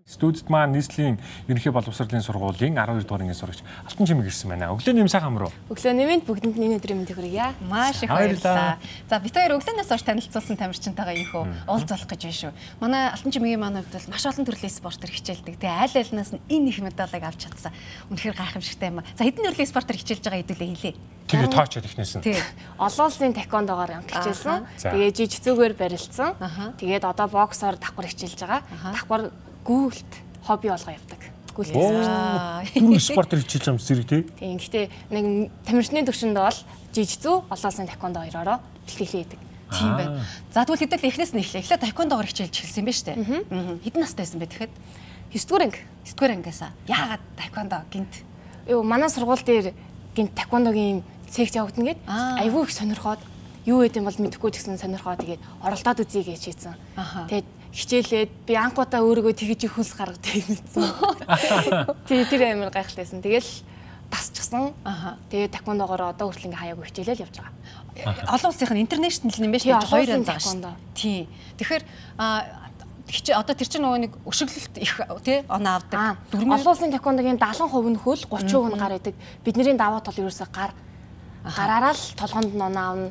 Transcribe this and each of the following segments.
Студид маань нийслэлийн ерөнхий боловсролын сургуулийн 12 дугаар ангийн сурагч Алтан Чимэг ирсэн байна. Өглөө нэм сайхан амруу. Өглөө нэмэнд бүгдэнд энэ өдрийн мэндийг хүргье. Маш их баярлалаа. За бид хоёр өглөөнөөс хойш танилцуулсан тамирчинтайгаа инхөө уулзах гэж байна шүү. Манай Алтан Чимэгийн маань хувьд бол маш олон төрлийн спортоор хичээлдэг. Тэгээ аль алинаас нь энэ их медалыг авч чадсан. Үнэхээр гайхамшигтай юм. За хэдэн төрлийн спортоор хичээлж байгаа хэдүүлээ хэлээ. Тэгээ тоочод ихнээсэн. Олон улсын таеквондогоор хичээлсэн. Тэгээ жижигцүүгээр барилдсан. Тэгээд одоо боксоор давхар хичээлж байгаа. Давхар гүйлт хобби болгоо явдаг. Гүйлт спорт хичээлж байгаа зэрэг тий. Тийм. Гэхдээ нэг тамирчны төвшөнд бол жижигцүү олон улсын таеквондо хоёроо бэлтгэлээ хийдэг. Тийм байна. За тэгвэл хэдэл эхнээс нь эхлэе. Эхлээд таеквондогоор хичээлж эхэлсэн юм байна шүү дээ. Хэдэн настай байсан бэ тэгэхэд? 9 дугаар анги. 9 дугаар ангиасаа. Яагаад таеквондо гинт? Манай сургууль дээр гинт таеквондогийн секц явагдана гэд айгүй их сонирхоод юу гэдэг юм бол мэдэхгүй ч гэсэн сонирхоод тэгээд оролдоод үзье гэж хийсэн. Тэгээд хичээлээд би анхудаа өөрийгөө тэгж их хүнс гаргадаг юмсэн. Тэр амар гайхалтайсэн. Тэгэл тасчихсан. Тэгээд таеквондогоор одоо хүртэл ингээ хаяагүй хичээлэл явж байгаа. Олон улсынх нь интернэшнл юм байна шүү дээ. Хоёр анги байгаа шүү. Тийм. Тэгэхээр одоо тэр чинь нөгөө нэг өшөглөлт их тий оноо авдаг. Олон улсын таеквондогийн 70% нь хөл 30% нь гар идэг. Бидний даваа тол ерөөсөө гараараа л толгоонд нь оноо авна.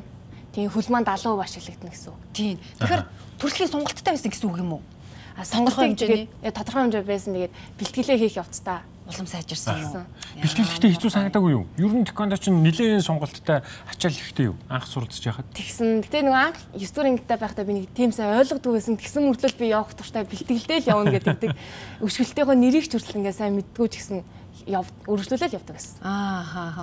Тийм хөл маань 70% ашиглагдана гэсэн үг. Тийм. Тэгэхээр төрөлхийн сонголттой байсан гэсэн үг юм уу? Сонголтын хэмжээний тодорхой хэмжээ байсан. Тэгээд бэлтгэлээ хийх явцдаа улам сайжирсан юм. Бэлтгэлтэй хэцүү санагдаагүй юу? Ер нь таеквондо чинь нэлээд сонголттой ачаал ихтэй юу? Анх суралцж яхад. Тэгсэн. Гэтэ нөгөө анх 9 дугаар ангитай байхдаа би нэг тийм сайн ойлгодгүй байсан. Тэгсэн мөртлөө би явах туртай бэлтгэлтэй л явна гэдэг. Өшгөлтөөгөө нэрийг ч хүртэл ингээ сайн мэддгүү ч гэсэн өргөжлүүлэл явдаг байсан.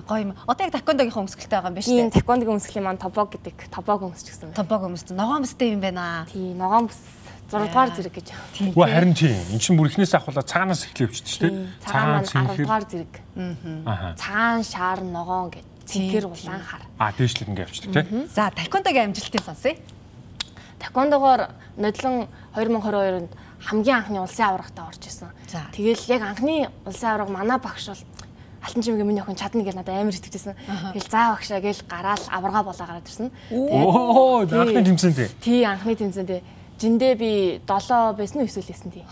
Гоё юм. Одоо яг таеквондогийнхоо өмсгөлтэй байгаа юм байна шүү дээ. Тийм, таеквондогийн өмсгөлийн маань тобог гэдэг. Тобог өмсчихсэн. Тобог өмссөн. Ногоон бүстэй юм байна. Тийм, ногоон бүс 6 дугаар зэрэг гэж. Үгүй харин тийм. Энд чинь бүр ихнээс ахуулаад цагаанаас эхлэв явчихдаг шүү дээ. Цагаан 10 дугаар зэрэг. Цагаан, шар, ногоон гэдэг. Цэнхэр, улаан, хар. Дээшлэг ингээ явчихдаг тий. За, таеквондогийн амжилтыг сонсъё. Таеквондогоор нодлон 2022-нд хамгийн анхны улсын аврагтаа орж исэн. Тэгэл яг анхны улсын авраг манай багш бол Алтан Чимэгийн миний охин чадна гэж надад амар итгэжсэн. Тэгэл заа багшаа гээл гараал аврагаа болоо гараад ирсэн. Анхны тэмцээндээ. Тий, анхны тэмцээндээ. Жиндээ би 7 байсан уу эсвэл байсан тий.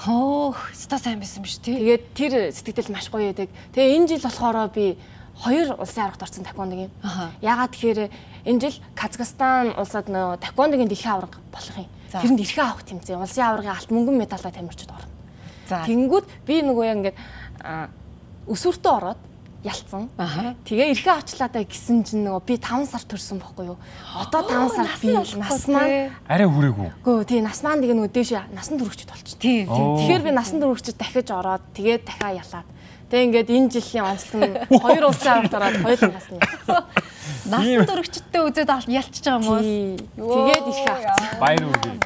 Ста сайн байсан биш тий. Тэгээд тэр сэтгэл маш гоё байдаг. Тэгээ энэ жил болохоор би 2 улсын аврагт орсон таеквондогийн. Ягаад тэгэхээр энэ жил Казахстан улсад нөө таеквондогийн дэлхийн авраг болох юм. Тэрэнд эрхээ авах тэмцээн. Улсын аврагын алт мөнгөн медалтай тамирчид орно. Тэнгүүд би нөгөө яг ингээд өсвөртөө ороод ялцсан. Тэгээ эрхээ авчлаадаа гисэн чинь нөгөө би 5 сар төрсөн байхгүй юу? Одоо 5 сар би нас маань арай хүрээгүй. Гөө тий нас маань тэгээ нөгөө дээш насан туршид болчих. Тэгэхээр би насан туршид дахиж ороод тэгээд дахиад ялаад. Тэгээ ингээд энэ жилийн онцлог нь 2 улсын аврагт ороод хоёулангаас нь ялцсан. Насан туршидтэй үзээд ялчиж байгаа юм уу? Тэгээд эрхээ авсан. Баяр үргэлж.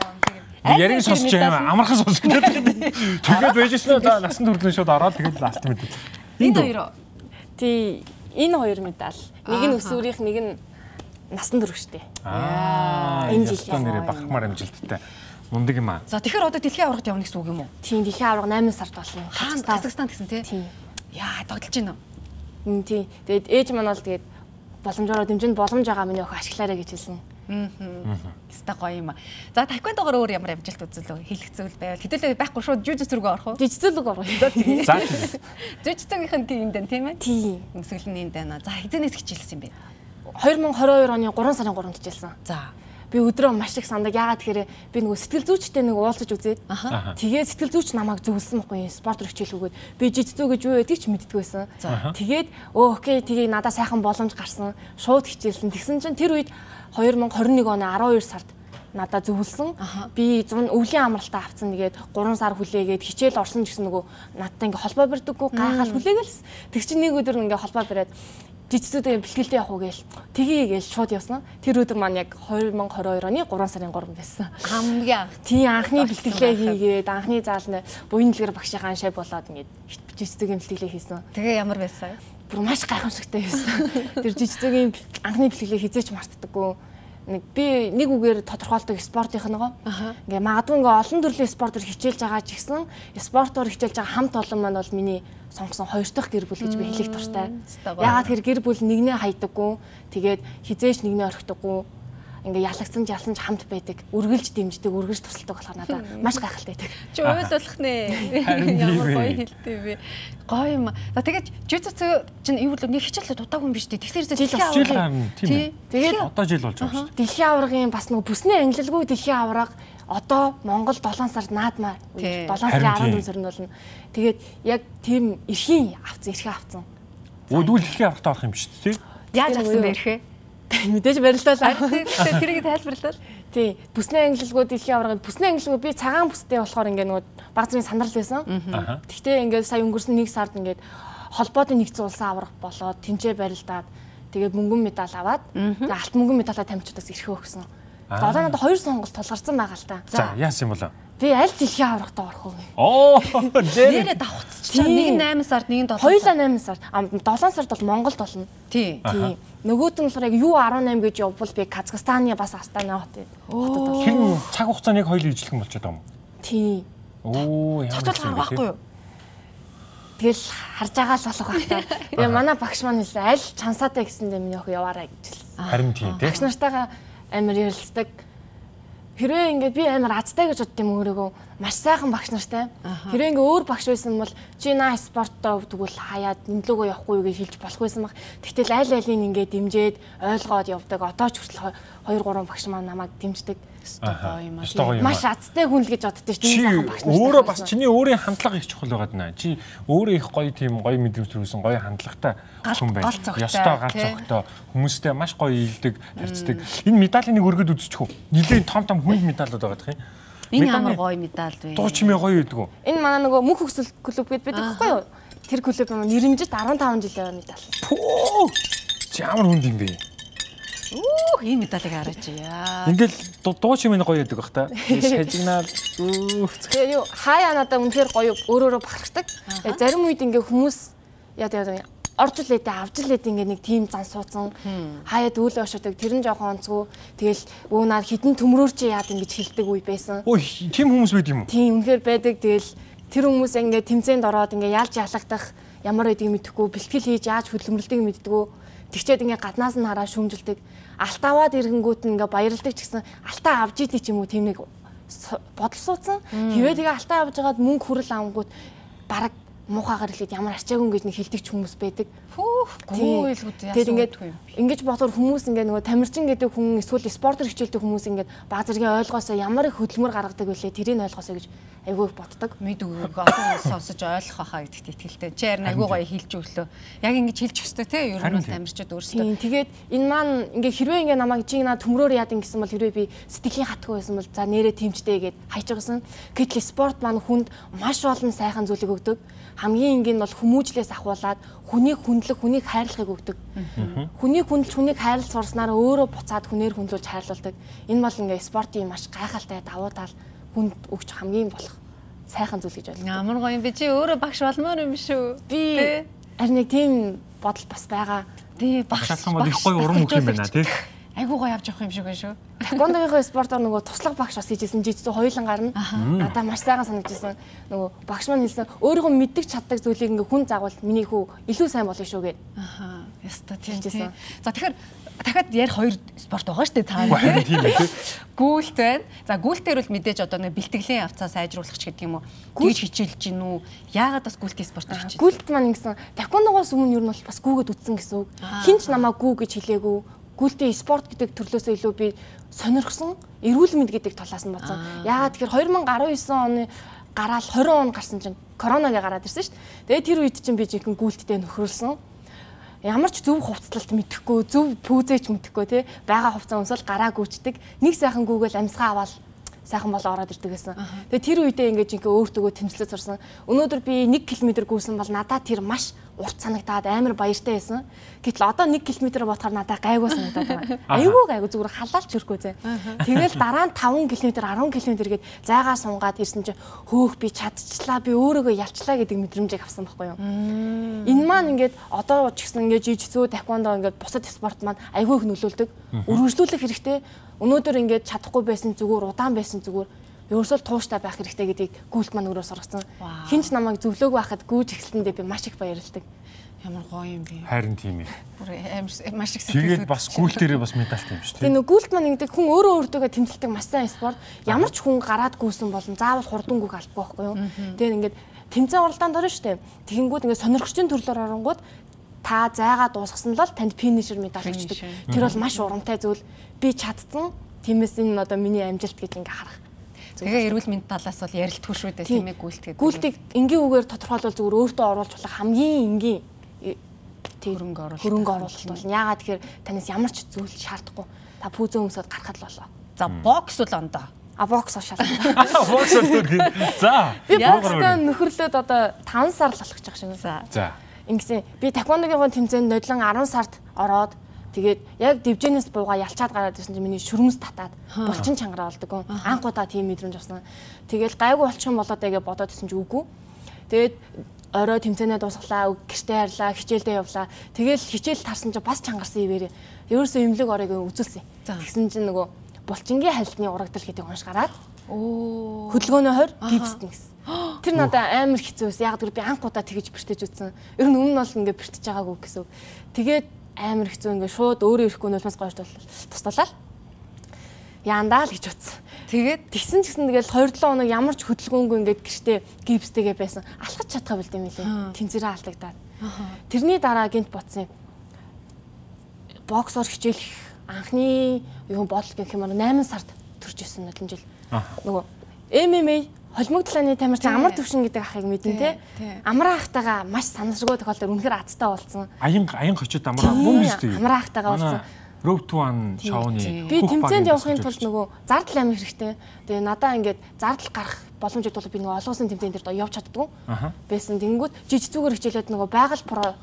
Яриг сонсож байгаа амархан сонсож гэдэг. Тэгээд байжсэн за насан туршлын шууд ороод тэгээд ласт мэдээ. Энэ хоёр. Тий, энэ хоёр медаль. Нэг нь өсвөрийнх, нэг нь насан туршидтэй. Энэ жилийн нэрээ бахархмаар амжилттай. Мундаг юм аа. За тэгэхээр одоо дэлхийн аврагт явна гэсэн үг юм уу? Тийм, дэлхийн авраг 8 сард болно. Казахстан гэсэн тий. Тийм. Яа, тоглож байна уу? Тийм. Тэгээд ээж маань бол тэгээд боломжоор дэмжинд боломж байгаа миний охин ашиглаарай гэж хэлсэн. Хэвээ гоё юм аа. За таеквондогоор өөр ямар амжилт үзүүлв? Хэлэх зүйл байвал хэдүүлээ байхгүй шууд жүжигч рүүгээ орох уу? Жүжигч рүү орох. За. Жүжигчгийн тийм энэ тийм ээ? Тийм. Өмсгөл нь энэ байна. За хэзээс хичээлсэн юм бэ? 2022 оны 3 сарын 3-нд хичээлсэн. За. Би өдрөө маш их сандаг. Яагаад тэгэхээр би нөгөө сэтгэл зүйчтэй нэг уулзаж үзээд тэгээд сэтгэл зүйч намайг зөвлөсөн байхгүй спортоор хичээлгүйгээд би жижигцүү гэж юу байдгийг ч мэддэггүй байсан. Тэгээд окей тэгээд надад сайхан боломж гарсан. Шууд хичээлсэн. Тэгсэн чинь тэр үед 2021 оны 12 сард надад зөвлөсөн. Би өвлийн амралтаа авцсан. Тэгээд 3 сар хүлээгээд хичээл орсон гэсэн нөгөө надтай ингээ холбоо барьдаггүй гайхал хүлээгээл. Тэг чи нэг өдөр ингээ холбоо бариад жижигцүүдээ бэлтгэлтэй явах уу гээл тгий гээл шууд явсан. Тэр өдөр маань яг 2022 оны 3 сарын 3 байсан. Хамгийн анх. Тийм анхны бэлтгэлээ хийгээд анхны заалны буян дэлгэр багшийн шай болоод ингээд жижигцүүгийн бэлтгэлээ хийсэн. Тэгээ ямар байсан? Бүр маш гайхамшигтай байсан. Тэр жижигцүүгийн анхны бэлтгэлээ хизээч мартдаггүй. Би нэг үгээр тодорхойлдог спортынх нь ингээ магадгүй ингээ олон төрлийн спортоор хичээлж байгаа ч гэсэн спортоор хичээлж байгаа хамт олон маань бол миний сонгосон хоёр дахь гэр бүл гэж би хэлэх дуртай. Яагаад тэр гэр бүл нэгнээ хайдаггүй, тэгээд хизээч нэгнээ орхидаггүй. ингээ ялагдсан жалсан хамт байдаг. Үргэлж дэмждэг, үргэлж тусалдаг болохоор надад маш гайхалтай байдаг. Чи уйлуулах нэ. Ямар гоё хэлтэй вэ? Гоё юм. За тэгээд жижигцүү чинь юу л нэг хичээлээ дутаагүй юм биш үү? Тэгэхээр жил гарна тийм. Тэгээд одоо жил болж байгаа шүү дээ. Дэлхийн аваргын бас нэг бүсний ангилалгүй дэлхийн аварга одоо Монгол 7 сард наадмаар 7 сарын 14 сард болно. Тэгээд яг тийм эрхийн авцсан. Өөдгөл дэлхийн аврагтай авах юм биш үү? Тий. Яаж авсан бэ эрхээ? Мэдээж барилдаа. Тэрийг тайлбарлал. Тий. Бүсний ангилалгүй дэлхийн аваргад бүсний ангилалгүй би цагаан бүстэй болохоор ингээ нөгөө баг зэргийн сандрал байсан. Тэгтээ ингээ сая өнгөрсөн 1 сард ингээ холбоотой нэгдсэн улсын аварга болоод тэнцээ барилдаад тэгээд мөнгөн медаль аваад тэгээд алт мөнгөн медалаа тамирчдаас эрхээ өгсөн. Одоо надад 2 сонголт тулгарсан байгаа л та. За яасан юм бол? Би аль дэлхийн аврагтаа орох вэ? Оо, нэрээ давхцчихсан. Нэг 8 сард, нэг 7 сард. Хоёулаа 8 сард. 7 сард бол Монголд болно. Тий. Нөгөөт нь болохоор яг U18 гэж явбал би Казахстаны бас Астана хотод. Тэр цаг хугацааныг хоёул ижлэх юм болчиход байгаа юм. Тий. Оо, ямар ч байхгүй юу? Тэгэл харж байгаа л болох байх та. Тэгээ манай багш маань хэлсэн аль чансаатай гэсэндээ миний охин яваарай гэж хэлсэн. Харин тийм тий. Багш нартайгаа амар ярилцдаг. Хэрвээ ингээд би амар азтай гэж бодд юм өөрийгөө маш сайхан багш нартай. Хэрвээ ингээд өөр багш байсан бол чи наа спорттой тэгвэл хаяад нэмлөөгөө явахгүй юу гэж хэлж болох байсан баг. Тэгтэл аль алийг ингээд дэмжиж ойлгоод явдаг. Одоо ч хүртэл 2 3 багш маань намайг дэмждэг. Маш азтай хүн л гэж боддоо шүү дээ. Чи өөрөө бас чиний өөрийн хандлага их чухал байгаад наа. Чи өөрөө их гоё тийм гоё мэдрэмж төрүүлсэн гоё хандлагатай хүн байна. Ёстой галц цогтой хүмүүстэй маш гоё ийлдэг, харьцдаг. Энэ медалийн нэг өргөд үзчихв. Нилийн том хүн медалууд байгаа гэх юм. Энэ ямар гоё медаль вэ? Дуу чимээ гоё байдаг уу? Энэ манай нөгөө мөнх хөксөл клуб гэдэг байдаг байхгүй юу? Тэр клуб маань нэрмжит 15 жилийн медаль. Чи ямар хүнд юм бэ? Ийм медалийг хараач яа. Ингээл дуу чимээ гоё байдаг бах та. Шажигнаад тэгээ юу хаяа надаа үнэхээр гоё өөрөөрөө бахархдаг. Зарим үед ингээ хүмүүс яа орж илээдээ авж илээдээ ингээ нэг тим зан суудсан. Хаяад өөлөө ошоодаг тэр нь жоохон онцгүй. Тэгэл өөнаад хідэн төмрөөр чи яад ингэж хэлдэг үе байсан. Ой тийм хүмүүс байд юм уу? Тийм үнэхээр байдаг. Тэгэл тэр хүмүүс ингээ тэмцээнд ороод ингээ яалж ялагдах ямар байдгийг мэдэхгүй бэлтгэл хийж яаж хөдөлмөрлөдгийг мэддэггүй. Тэгчээд ингээ гаднаас нь хараа шүүмжилдэг. Алтаваад ирэнгүүт нь ингээ баярлдаг ч гэсэн алтаа авж идэв ч юм уу тийм нэг бодол суудсан. Хэвээ тэгээ алтаа авж байгаад мөнгө хүрэл авангууд бараг муухагаар хэлээд ямар арчаагүй гэж нэг хэлдэг ч хүмүүс байдаг. Гүйлгүүд яасан. Ингэж бодохоор хүмүүс ингээ нөгөө тамирчин гэдэг хүн эсвэл спортер хичээлдэг хүмүүс ингээ баг зэргийн ойлгоосоо ямар их хөдөлмөр гаргадаг вүлээ тэрийг ойлгоосоо гэж айгүй боддог. Мэдгүй олон сонсож ойлгох хаа гэдэгт итгэлтэй. Чи харин айгүй гоё хэлж өглөө. Яг ингэж хэлж өстой те ер нь бол тамирчид өөрсдөө. Тэгээд энэ маань ингээ хэрвээ ингээ намайг чи наа төмрөөр яад ингэсэн бол хэрвээ би сэтгэлийн хатгүй байсан бол за нэрээ тэмчтэй гэд хайж байгасан. Гэтэл спорт маань хүнд маш олон сайхан зүйлийг өгдөг. Хамгийн энгийн бол хүмүүжлээс ахуулаад хүнийг хүндлэх, хүнийг хайрлахыг өгдөг. Хүнийг хүндэлж, хүнийг хайрлах сурснаар өөрөө буцаад хүнээр хүндлүүлж хайрлуулдаг. Энэ бол ингээ спортын маш гайхалтай давуу тал хүнд өгч хамгийн болох сайхан зүйл гэж бодлоо. Ямар гоё юм бэ чи өөрөө багш болмоор юм шүү. Би харин нэг тийм бодол бас байгаа. Тий багш болох их гоё урам өгөх юм байна тий. Айгуу гоё авч явах юм шиг байна шүү. Таквондогийнхоо спортоор нөгөө туслах багш бас хийжсэн жижигцүү хоёулан гарна. Надаа маш сайхан санагдчихсан. Нөгөө багш маань хэлсэн өөрийгөө мэддэг чаддаг зүйлийг ингээ хүн загвал миний хүү илүү сайн болно шүү гэд. Яста тийм. За тэгэхээр дахиад ярих 2 спорт байгаа шүү дээ цаана. Тийм үү. Гүйлт байна. За гүйлтээр бол мэдээж одоо нэг бэлтгэлийн авцаа сайжруулах ч гэдэг юм уу. Гүйж хичээлж гин үү? Яагаад бас гүйлтийн спортоор хичээл? Гүйлт маань ингэсэн таквондогоос өмнө ер нь бол бас гүгээд үтсэн гэсэн үг. Хинч намаа гүү гэж хэлээгүй. Гүйлтийн спорт гэдэг төрлөөсөө илүү би сонирхсон. Эрүүл мэнд гэдэг талаас нь бодсон. Яагаад тэгэхээр 2019 оны гараал 20 он гарсан чинь коронавигийн гараад ирсэн шүү дээ. Тэгээд тэр үед чинь би жинхэнэ гүйлттэй нөхрөлсөн. Ямар ч зөв хувцлалт мэдэхгүй, зөв пүүзээч мэдэхгүй тий байгаа хувцас өмсөл гараа гүйчдэг. Нэг сайхан гүүгээл амьсгаа аваад сайхан болоо ороод ирдэг гэсэн. Тэгээ тэр үедээ ингээд жинхэнэ өөртөө тэмцэлд сурсан. Өнөөдөр би 1 км гүйсэн бол надад тэр маш урт санагдаад амар баяртай байсан. Гэтэл одоо 1 км бодохоор надад гайгүй санагдаад байна. Айгүй гайгүй зүгээр халаалч хөрхөө зэ. Тэгэл дараа нь 5 км 10 км гээд зайгаа сунгаад ирсэн чинь хөөх би чадчихлаа би өөрийгөө ялчлаа гэдэг мэдрэмжийг авсан байхгүй юу. Энэ маань ингээд одоо ч гэсэн ингээд жижигцүү таквондо ингээд бусад спорт маань айгүй их нөлөөлдөг. Үргэлжлүүлэх хэрэгтэй. Өнөөдөр ингээд чадахгүй байсан зүгээр удаан байсан зүгээр ерөөсөө тууштай байх хэрэгтэй гэдгийг гүйлт маань өөрөө сургацсан. Хинч намайг зөвлөөг байхад гүйж эхэлсэндээ би маш их баярлдаг. Ямар гоё юм бэ. Харин тийм ээ. Бүр амар маш их сэтгэл. Тэгээд бас гүйл дээрээ бас медальт юм шүү дээ. Тэгээ гүйлт маань ингэдэг хүн өөрөө өөртөө тэмцэлдэг маш сайн спорт. Ямар ч хүн гараад гүйсэн болон заавал хурдан гүйх албагүй байхгүй юу. Тэгээд ингээд тэмцээн оролдоонд орно шүү дээ. Тэгэнгүүт ингээд сонирхчдын төрлөөр оронгууд та зайгаа дуусгасан л танд финишер медаль өгчдөг. Тэр бол маш урамтай зүйл. Би чадсан. Тиймээс энэ одоо миний амжилт гэж ингээ харах. Тэгээ эрүүл мэнд талаас бол ярилтгүй шүү дээ тийм ээ гүйлт гэдэг. Гүйлтийг энгийн үгээр тодорхойлвол зүгээр өөртөө оруулж болох хамгийн энгийн хөрөнгө оруулалт бол яагаад тэгэхээр танаас ямар ч зүйл шаардахгүй. Та пүүзээ өмсөд гарахад л болоо. За бокс бол ондоо. Бокс шаардлагатай. Бокс үгүй. За. Би бокстай нөхөрлөд одоо 5 сар л болох гэж байгаа шиг. За. Ингэсэн би таеквондогийн тэмцээнд нодлон 10 сард ороод тэгээд яг дивжэнээс буугаа ялчаад гараад ирсэн чинь миний шүрмэс татаад булчин чангараа болдог. Анхудаа тийм мэдрэмж авсан. Тэгэл гайгүй болчих юм болоо даа гэж бодоод исэн чи үгүй. Тэгээд орой тэмцээнээ дуусглаа, гэртээ харлаа, хичээлдээ явлаа. Тэгэл хичээл тарсан чинь бас чангарсан ивэрээ. Ерөөсөө имлэг оройг үзүүлсэн. Тэгсэн чинь нөгөө булчингийн хальтны урагдал гэдэг унш гараад хөдөлгөөнөө хойр гипсд нэгсэн. Тэр надад амар хэцүү байсан. Яг тэр би анхудаа тэгэж бэртэж үтсэн. Ер нь өмнө нь бол ингээ бэртэж байгаагүй гэсэн. Тэгээд амар хэцүү ингээ шууд өөрөө ирэхгүй нулимс гоёж туслалаа. Яандаа л гэж утсан. Тэгээд тэгсэн ч гэсэн тэгэл 2-7 хоног ямар ч хөдөлгөөнгүй ингээд гэртээ гипстэйгээ байсан. Алхаж чадхаа билдэм билээ. Тэнцэрээ алдагдаад. Тэрний дараа гинт ботсон юм. Боксоор хичээлэх анхны юу бодол гэх юм аа 8 сард төрж исэн нулимс жил. Нөгөө MMA холимог талааны тамирчин амар төвшин гэдэг ахыг мэдэн те. Амраа ахтайгаа маш санамсаргүй тохиолдолд үнэхээр азтай болсон. Аян хочод амраа мөн биз дээ. Амраа ахтайгаа болсон. Road to One шоуны би тэмцээнд явахын тулд нөгөө зардал амир хэрэгтэй. Тэгээ надаа ингээд зардал гарах боломжтой бол би нөгөө олон улсын тэмцээнд дээр явж чаддгүй. Байсан. Тэнгүүд жижигцүүгээр хичээлээд нөгөө байгаль про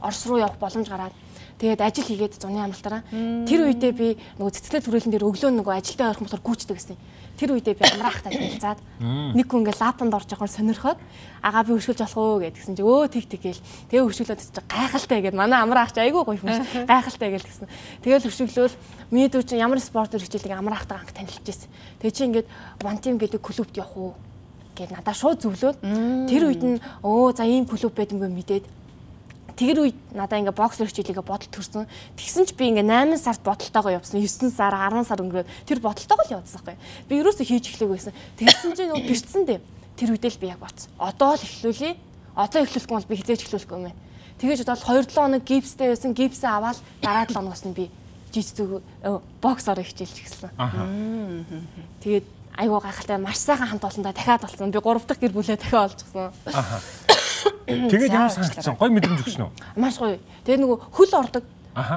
Орос руу явах боломж гараад тэгээд ажил хийгээд зуны амралтаараа тэр үедээ би нөгөө цэцгэлэг түрээлэн дээр өглөө нөгөө ажилдаа орох болохоор гүйчдэг гэсэн. Тэр үедээ би амраахтай хэлцаад нэг хүн ингээ лапанд орж явахаар сонирхоод агаа би хөшгөлж болох уу гэдгсэн чи тэг гээл тэгээ хөшгөлөөд чи гайхалтай гэд манай амраах чи айгүй гоё юм шиг гайхалтай гээл тэгсэн. Тэгэл хөшгөлөөл миний дүү чи ямар спортоор хичээлдэг амраахтай анх танилж ирсэн. Тэгээ чи ингээд one team гэдэг клубт явах уу гэд надаа шууд зөвлөөд тэр үед нь за ийм клуб байдгүй мэдээд тэр үед надаа ингээ боксер хичээлийгээ бодолт төрсөн. Тэгсэн ч би ингээ 8 сард бодолтойгоо явсан. 9 сар, 10 сар өнгөрөөд тэр бодолтойгоо л явуулсан байхгүй. Би ерөөсөө хийж эхлэх байсан. Тэгсэн чинь нөгөө бэрцсэн дээ. Тэр үедээ л би яг боцсон. Одоо л эхлүүлье. Одоо эхлүүлэхгүй бол би хизээж эхлүүлэхгүй юм байна. Тэгэж бодоод 2-7 хоног гипстэй байсан. Гипсээ аваад дараа 7 хоногоос нь би жижиг боксоор хичээлж эхэлсэн. Тэгээд айгуу гайхалтай маш сайхан хамт олондоо дахиад болсон. Би 3 дахь гэр бүлээ дахиад олчихсон. Тэгээд ямар санагдсан? Гоё мэдрэмж өгсөн үү? Маш гоё. Тэгээд нөгөө хөл ордог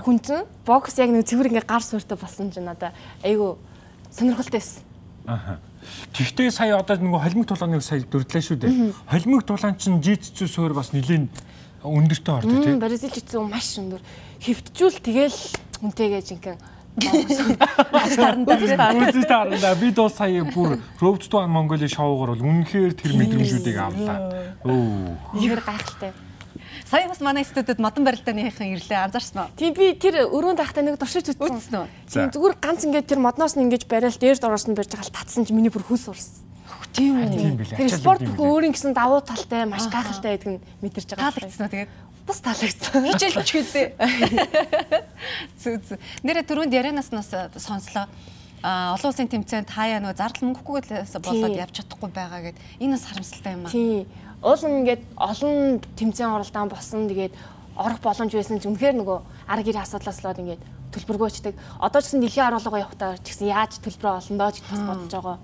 хүн чинь бокс яг нэг цэвэр ингээ гар сууртай болсон чинь надаа айгу сонирхолтой байсан. Тэгтээ сая одоо нөгөө холимог тулааныг сая дурдлаа шүү дээ. Холимог тулаан чинь житсүү суур бас нэлээд өндөртэй ордог тийм. Бразил житсүү маш өндөр. Хөвтжүүл тэгэл үнтэйгээ жинхэнэ Үзэж тарандаа би доо сая бүр Road to One Mongolia шоугаар бол үнэхээр тэр мэдрэмжүүдийг авлаа. Ихэр гайхалтай. Сая бас манай студид модон барилдааны ирлээ анзаарсан уу? Тийм би тэр өрөөнд ахтай нэг туршиж үзсэн үү? Тийм зүгээр ганц ингээд тэр модноос нь ингэж барайл дээрд ороосны барьж байгаа л татсан чи миний бүр хөл урсан. Тийм үү. Тэр спорт өөрийн гэсэн давуу талтай маш гайхалтай гэдэг нь мэдэрч байгаа. Таалагдсан уу тэгээд? Бас таалагдсан. Хичээлч гэлээ. Зүг. Нэрэ түрүүнд ярианаас сонслоо. Олон улсын тэмцээнд хаяа нөгөө зардал мөнгөхгүйгээс болоод явж чадахгүй байгаа гэд энэ бас харамсалтай юм аа. Тийм. Уул ингээд олон тэмцээн оролдоон болсон тэгээд орох боломж байсан ч үнэхээр нөгөө арга гэр асуудлаас болоод ингээд төлбөргөөчдөг. Одоо ч гэсэн дэлхийн аргалгаа явахтаа ч гэсэн яаж төлбөрөө олно доо гэж бодож байгаа.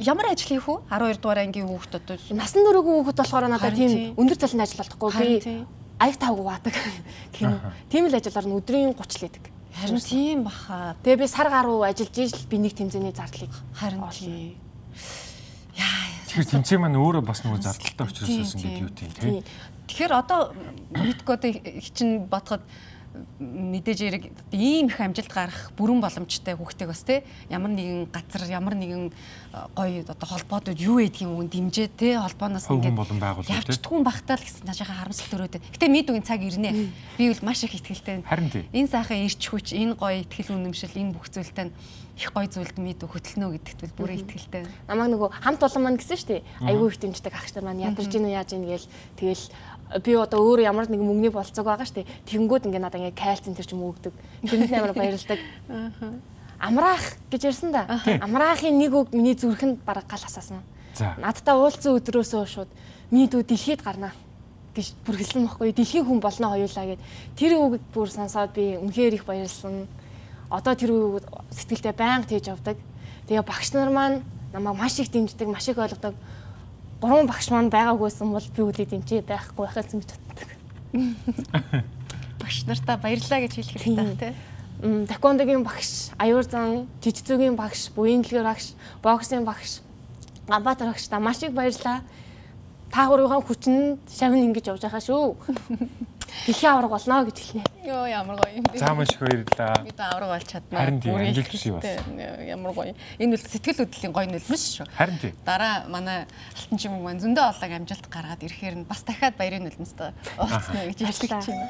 Ямар ажил хийх вэ? 12 дугаар ангийн хүүхэд одоо насан туршийн хүүхэд болохоор надад тийм өндөр заланд ажил болтохгүй би аяг тавгүй баадаг гэх юм. Тийм л ажиллаар нь өдрийн 30 л идэг. Харин тийм баха. Тэгээ би сар гаруй ажиллаж ижил би нэг тэмцээний зардлыг харин тийм. Яа. Тэгэхээр тэмцээн маань өөрөө бас нөгөө зардалтай учраас байсан гэдэг юу тийм. Тэгэхээр одоо мэдгүй одоо чинь бодоход мэдээж эрэг ийм их амжилт гарах бүрэн боломжтой хүүхдтэй бас те ямар нэгэн газар ямар нэгэн гоё одоо холбоодод юу гэдгийг үн дэмжээ те холбооноос ингээд явчихдгүй багтаал гэсэн цаашаа харамсалт төрөөд. Гэтэ мэдүүгийн цаг ирнэ. Би бол маш их ихтгэлтэй. Харин тийм. Энэ сайхан ирч хүч, энэ гоё ихтгэл үнэмшил, энэ бүх зүйлтэй их гоё зүйлд мэдв хөтлөнө гэдэгт бол бүрээ итгэлтэй. Намайг нөгөө хамт олон маань гэсэн шүү дээ. Айгүй их дэмждэг ах нар маань ядарч ийн яаж ийн гээл тэгэл би одоо өөрөө ямар нэгэн мөнгөний болцоог байгаа шүү дээ. Тэнгүүд ингээ надаа ингээ кальцин тэр ч юм өгдөг. Тэнд амар баярлдаг. Амраах гэж ярьсан да. Амраахын нэг үг миний зүрхэнд бараг гал асаасан. Надтай уулзсан өдрөөсөө шууд миний дүү дэлхийд гарнаа гэж бүр хэлсэн байхгүй. Дэлхийн хүн болно хоёулаа гэд. Тэр үг бүр сонсоод би үнэхээр их баярлсан. Одоо тэр үг сэтгэлдээ байнга тээж авдаг. Тэгээ багш нар маань намайг маш их дэмждэг, маш их ойлгодог. 3 багш маань байгаагүйсэн бол би үлээ дэмжиж байхгүй байхаас гэж боддог. Багш нартаа баярлалаа гэж хэлэх хэрэгтэй тий. Таквондогийн багш, аюур зан, жижигцүүгийн багш, буян дэлгэр багш, боксын багш, гамбатар багш та маш их баярлалаа. Та гурвын хүчинд шавн ингэж явж байгаа шүү. Дэлхийн авраг болно гэж хэлнэ. Йоо ямар гоё юм бэ. За маш их баярлалаа. Би та авраг болж чаднаа. Харин тийм амжилт хүсье бас. Ямар гоё. Энэ бол сэтгэл хөдлөлийн гоё нөлөөс шүү. Харин тийм. Дараа манай алтан чимэг маань зөндөө олог амжилт гаргаад ирэхээр нь бас дахиад баярын нөлөөстэй уулзна гэж ярьж байна.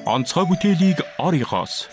Онцгой бүтээлийг Оригоос